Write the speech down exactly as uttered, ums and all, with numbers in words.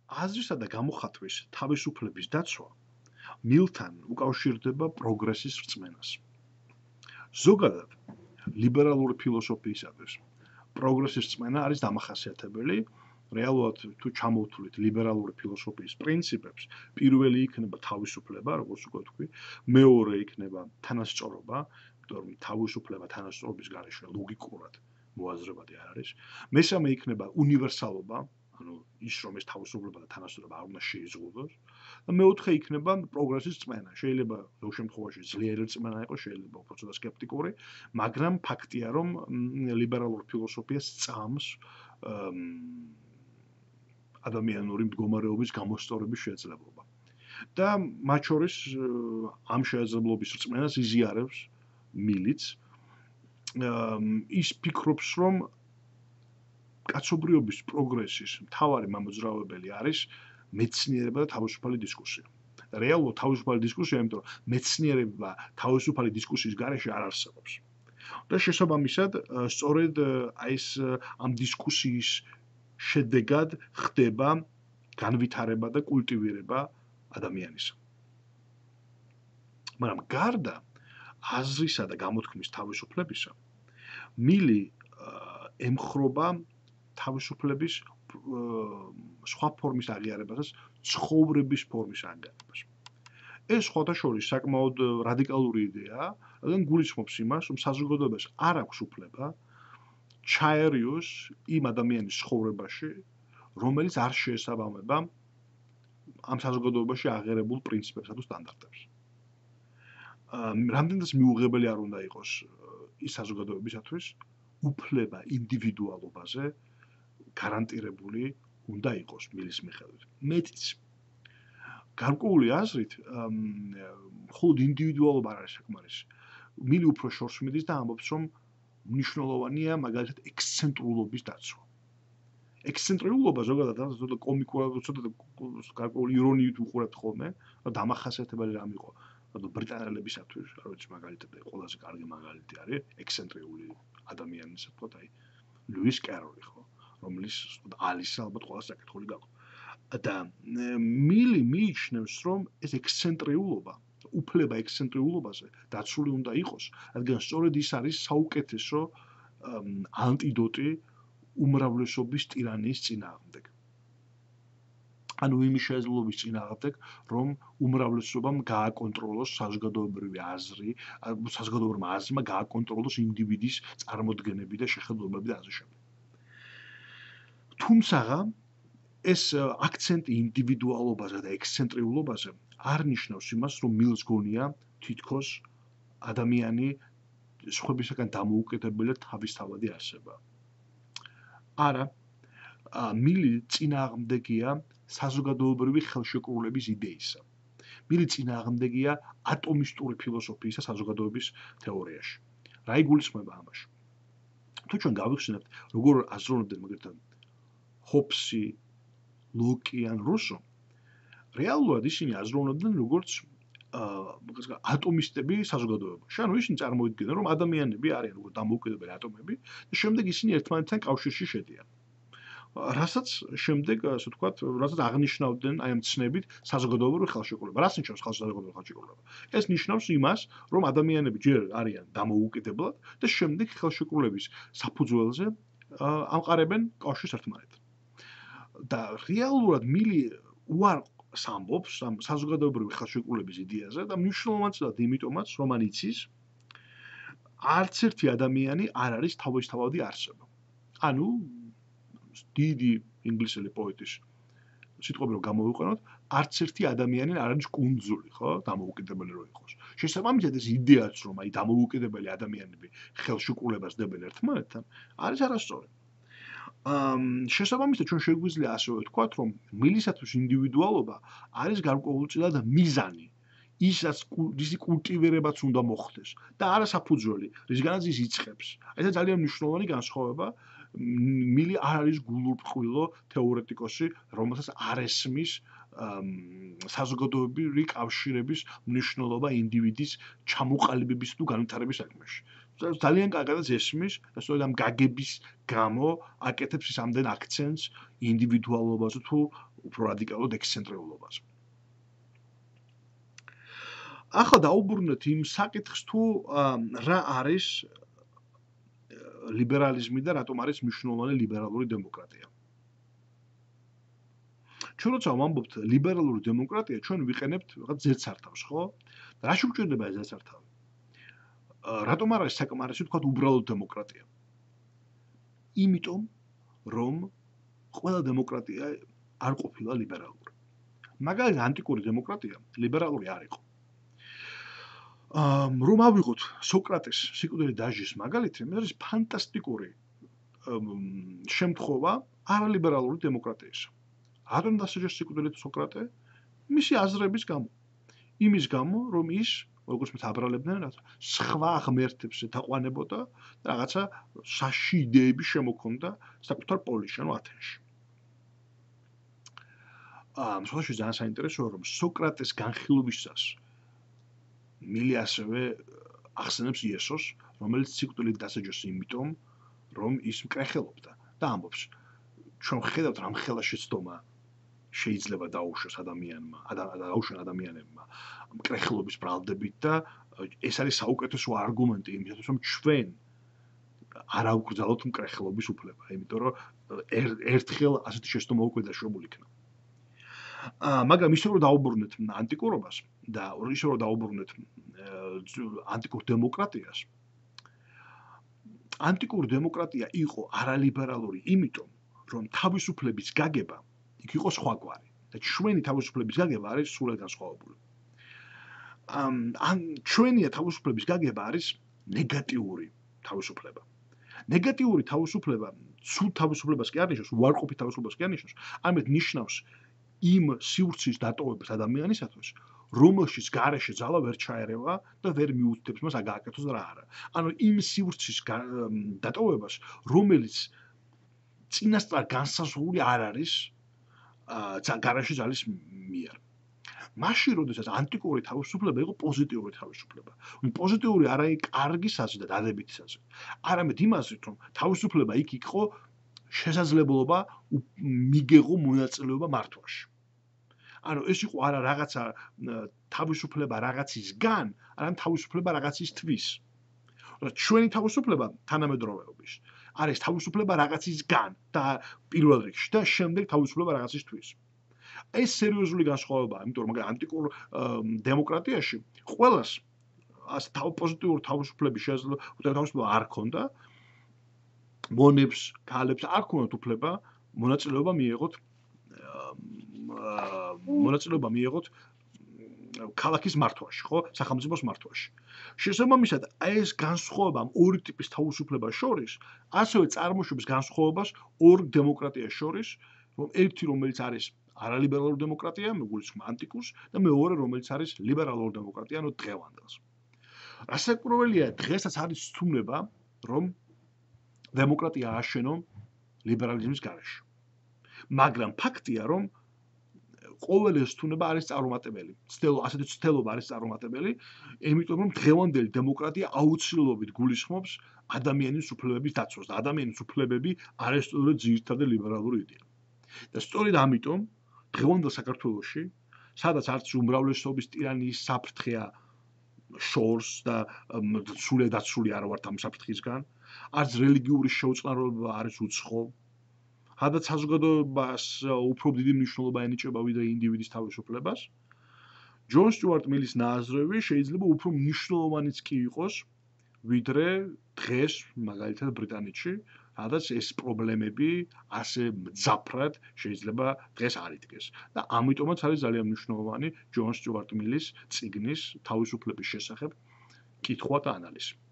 აზრისა და გამოხატვის თავისუფლების დაცვა მილთან უკავშირდება პროგრესის რწმენას. ზოგადად, ლიბერალური ფილოსოფიისათვის პროგრესის რწმენა არის დამახასიათებელი. რეალურად თუ ჩამოვთვლით ლიბერალური ფილოსოფიის პრინციპებს, პირველი იქნება თავისუფლება, როგორც უკვე თქვი, მეორე იქნება თანასწორობა, იმიტომ რომ თავისუფლება თანასწორობის გარეშე ლოგიკურად მოაზრებადი არ არის. მესამე იქნება უნივერსალობა, ანუ ის რომ ეს თავისუფლება და თანასწორობა არ უნდა შეიზღუდოს. და მეოთხე იქნება პროგრესის რწმენა. შეიძლება ზოგ შემთხვევაში ძლიერი რწმენა იყოს, შეიძლება უფრო ცოტა სკეპტიკური, მაგრამ ფაქტია რომ ლიბერალური ფილოსოფია სწამს ადამიანური მდგომარეობის გამოსწორების შესაძლებლობა. და მათ შორის ამ შესაძლებლობის რწმენას იზიარებს მილიც. ის ფიქრობს, რომ კაცობრიობის პროგრესის მთავარი მამოძრავებელი არის მეცნიერება და თავისუფალი დისკუსია. რეალურად თავისუფალი დისკუსია, იმიტომ რომ მეცნიერება თავისუფალი დისკუსიის გარეშე არ არსებობს. და შესაბამისად, სწორედ აი ეს ამ დისკუსიის შედეგად ხდება განვითარება და კულტივირება ადამიანისა. მაგრამ გარდა აზრისა და გამოთქმის თავისუფლებისა, მილი ემხრობა თავისუფლების სხვა ფორმის აღიარებასაც ცხოვრების ფორმის აღიარებას. ეს სხვათა შორის საკმაოდ რადიკალური იდეაა, რადგან გულისხმობს იმას, რომ საზოგადოებას არ აქვს უფლება ჩაერიოს იმ ადამიანის ცხოვრებაში, რომელიც არ შეესაბამება ამ საზოგადოებაში აღიარებულ პრინციპებსა თუ სტანდარტებს. რამდენადაც მიუღებელი არ უნდა იყოს ის საზოგადოებისათვის, უფლება ინდივიდუალობაზე გარანტირებული უნდა იყოს მილის მიხედვით. მეტიც გარკვეული აზრით, მხოლოდ ინდივიდუალობა არ არის საკმარისი. მილი უფრო შორს მიდის და ამბობს, რომ მნიშვნელოვანია მაგალითად ექსცენტრულობის დაცვა. ექსცენტრიულობა ზოგადად ცოტა კომიკურად, ცოტა გარკვეული ირონიით უყურებთ ხოლმე, და დამახასიათებელი რამ იყო ბრიტანელებისათვის, არ ვიცი მაგალითად ყველაზე კარგი მაგალითი არის ექსცენტრიული ადამიანის, თქო, აი ლუის კეროლი ხო, რომლის ალისა ალბათ ყველაზე საკითხული გაქვს. და მილი მიიჩნევს, რომ ეს ექსცენტრიულობა, უფლება ექსცენტრიულობაზე დაცული უნდა იყოს, რადგან სწორედ ის არის საუკეთესო ანტიდოტი უმრავლესობის ტირანიის წინააღმდეგ. ანუ იმის შესაძლებლობის წინააღმდეგ, რომ უმრავლესობამ გააკონტროლოს საზოგადოებრივი აზრი, საზოგადოებრივმა აზრმა გააკონტროლოს ინდივიდის წარმოდგენები და შეხედულებები და ასე შემდეგ. თუმცა ეს აქცენტი ინდივიდუალობაზე და ექსცენტრიულობაზე არ ნიშნავს იმას, რომ მილს გონია თითქოს ადამიანი სხვებისაგან დამოუკიდებელი და თავისთავადი არსება. არა, მილი წინააღმდეგია საზოგადოებრივი ხელშეკრულების იდეისა. მილი წინააღმდეგია ატომისტური ფილოსოფიისა საზოგადოების თეორიაში. რა იგულისხმება ამაში? თუ ჩვენ გავიხსენებთ, როგორ აზროვნებდნენ მაგალითად ჰობსი, ლოკი ან რუსო, რეალურად ისინი აზროვნებდნენ როგორც ატომისტები საზოგადოებაში. ანუ ისინი წარმოიდგნენ, რომ ადამიანები არიან როგორც დამოუკიდებელი ატომები და შემდეგ ისინი ერთმანეთთან კავშირში შედიან. რასაც შემდეგ, ასე ვთქვათ, რასაც აღნიშნავდნენ აი ამ ცნებით საზოგადოებრივი ხელშეკრულება. რას ნიშნავს საზოგადოებრივი ხელშეკრულება? ეს ნიშნავს იმას, რომ ადამიანები ჯერ არიან დამოუკიდებლად და შემდეგ ხელშეკრულების საფუძველზე ამყარებენ კავშირს ერთმანეთთან. და რეალურად მილი უარყს ამბობს ამ საზოგადოებრივი ხელშეკრულების იდეაზე და მნიშვნელოვანად იმიტომაც, რომ მან იცის, არც ერთი ადამიანი არ არის თავისთავადი არსება. ანუ დიდი ინგლისელი პოეტის სიტყვები რომ გამოვიყენოთ, არც ერთი ადამიანი არ არის კუნძული, ხო, დამოუკიდებელი რო იყოს. შესაბამისად ეს იდეაც, რომ აი დამოუკიდებელი ადამიანები ხელშეკრულებას დებენ ერთმანეთთან, არის არასწორი. შესაბამისად ჩვენ შეგვიძლია ასევე ვთქვათ, რომ მილისათვის ინდივიდუალობა არის გარკვეულწილად მიზანი, ისაც ისი კულტივირებაც უნდა მოხდეს და არა საფუძველი, რისგანაც ის იწყებს. ეს ძალიან მნიშვნელოვანი განსხვავება. მილი არ არის გულურყვილო თეორეტიკოსი, რომელსაც არ ესმის საზოგადოებრივი კავშირების მნიშვნელობა ინდივიდის ჩამოყალიბების თუ განვითარების საქმეში. ძალიან კარგად ესმის და სწორედ ამ გაგების გამო აკეთებს ის ამდენ აქცენტს ინდივიდუალობაზე თუ უფრო რადიკალურად ექსცენტრიულობაზე. ახლა დაუბრუნდეთ იმ საკითხს თუ რა არის ლიბერალიზმი და რატომ არის მნიშვნელოვანი ლიბერალური დემოკრატია. ჩვენ როცა ვამბობთ ლიბერალური დემოკრატია, ჩვენ ვიყენებთ რაღაც ზედსართავს, ხო? რა შეგვჭირდება ეს ზედსართავი? რატომ არ არის საკმარისი თქვა უბრალოდ დემოკრატია? იმიტომ, რომ ყველა დემოკრატია არ ყოფილა ლიბერალური. მაგალითად, ანტიკური დემოკრატია ლიბერალური არ იყო. რომ ავიღოთ სოკრატეს სიკვდილით დასჯის მაგალითი, ეს არის ფანტასტიკური შემთხვევა არალიბერალური დემოკრატიისა. რატომ დასაჯეს სიკვდილით სოკრატე? მისი აზრების გამო. იმის გამო, რომ ის, როგორც მე აბრალებდნენ, სხვა ღმერთებს ეთაყვანებოდა და რაღაცა საში იდეები შემოქონდა საკუთარ პოლისში, ანუ ათენში. ამ შემთხვევაში ძალიან საინტერესოა, რომ სოკრატეს განხილვისას მილი ასევე ახსენებს იესოს, რომელიც სიკვდილით დასაჯეს იმიტომ, რომ ის მკრეხელობდა და ამბობს, ჩვენ ხედავთ რამ ხელა შეცდომა შეიძლება დაუშვას ადამიანმა, დაუშვან ადამიანებმა მკრეხელობის ბრალდებით და ეს არის საუკეთესო არგუმენტი იმისათვის, რომ ჩვენ არ ავკრძალოთ მკრეხელობის უფლება, იმიტომ რომ ერთხელ ასეთი შეცდომა უკვე დაშვებული იქნა. მაგრამ ისე რომ დაუბრუნდეთ ანტიკურობას და ისე რომ დაუბრუნდეთ ანტიკურ დემოკრატიას, ანტიკური დემოკრატია იყო არალიბერალური იმიტომ, რომ თავისუფლების გაგება იქ იყო სხვაგვარი და ჩვენი თავისუფლების გაგება არის სრულად განსხვავებული. ან ჩვენია თავისუფლების გაგება არის ნეგატიური თავისუფლება. ნეგატიური თავისუფლება, სულ თავისუფლებას კი არ ნიშნავს, უარყოფით თავისუფლებას კი არ ნიშნავს, ამით ნიშნავს იმ სივრცის დატოვებას ადამიანისათვის, რომელშიც გარეშე ძალა ვერ ჩაერევა და ვერ მიუთითებს მას აგააკეთოს რა არა. ანუ იმ სივრცის დატოვებას, რომელიც წინასწარ განსაზღვრული არ არის გარეშე ძალის მიერ. მაშინ, როდესაც ანტიკური თავისუფლება იყო პოზიტიური თავისუფლება. პოზიტიური არა იქ კარგი საზრდა დადებითი საზრდა. არამედ იმ აზრით, რომ თავისუფლება იქ იყო შესაძლებლობა მიგეღო მონაწილეობა მართვაში. ანუ ეს იყო არა რაღაცა თავისუფლება რაღაცისგან, არამედ თავისუფლება რაღაცისთვის. ჩვენი თავისუფლება თანამედროვეობის არის თავისუფლება რაღაცისგან და პირველ რიგში და შემდეგ თავისუფლება რაღაცისთვის. ეს სერიოზული განსხვავებაა, იმიტომ რომ ანტიკურ დემოკრატიაში ყველას ასე პოზიტიური თავისუფლების შესაძლებლობა არ ქონდა. მონებს, ქალებს არ ქონდათ უფლება მონაწილეობა მიეღოთ მონაწილეობა მიეღოთ ქალაქის მართვაში, ხო, სახელმწიფოს მართვაში. შესაბამისად, ეს განსხვავება ორი ტიპის თავისუფლებას შორის, ასევე წარმოშობს განსხვავებას ორ დემოკრატიას შორის, რომ ერთი რომელიც არის არალიბერალური დემოკრატია, მეგულისხმ ანტიკურს და მეორე რომელიც არის ლიბერალური დემოკრატია, ანუ დღევანდელს. რასაკვირველია, დღესაც არის სტუმრება, რომ დემოკრატია ააშენო ლიბერალიზმის გარეშე. მაგრამ ფაქტია, რომ ყოველი სტუმრება არის წარუმატებელი. ცდელო, ასეთი ცდელობა არის წარუმატებელი, იმიტომ რომ დღევანდელი დემოკრატია აუცილებლობით გულისხმობს ადამიანის უფლებების დაცვას და ადამიანის უფლებები არის სწორედ ძირითადი ლიბერალური იდეა. და სწორედ ამიტომ დღევანდელ საქართველოში, სადაც არც უმრავლესობის ტირანიის საფრთხეა შორს და სულე დაცული არ ვართ ამ საფრთხისგან, არც რელიგიური შეუწყნარობა არის უცხო. სადაც საზოგადოებას უფრო დიდი მნიშვნელობა ენიჭება ვიდრე ინდივიდის თავისუფლებას. ჯონ სტიუარტ მილის ნაზრები შეიძლება უფრო მნიშვნელოვანიც კი იყოს, ვიდრე დღეს, მაგალითად ბრიტანეთში, სადაც ეს პრობლემები ასე მძაფრად შეიძლება დღეს არ იდგეს. და ამიტომაც არის ძალიან მნიშვნელოვანი ჯონ სტიუარტ მილის წიგნის თავისუფლების შესახებ კითხვა და ანალიზი.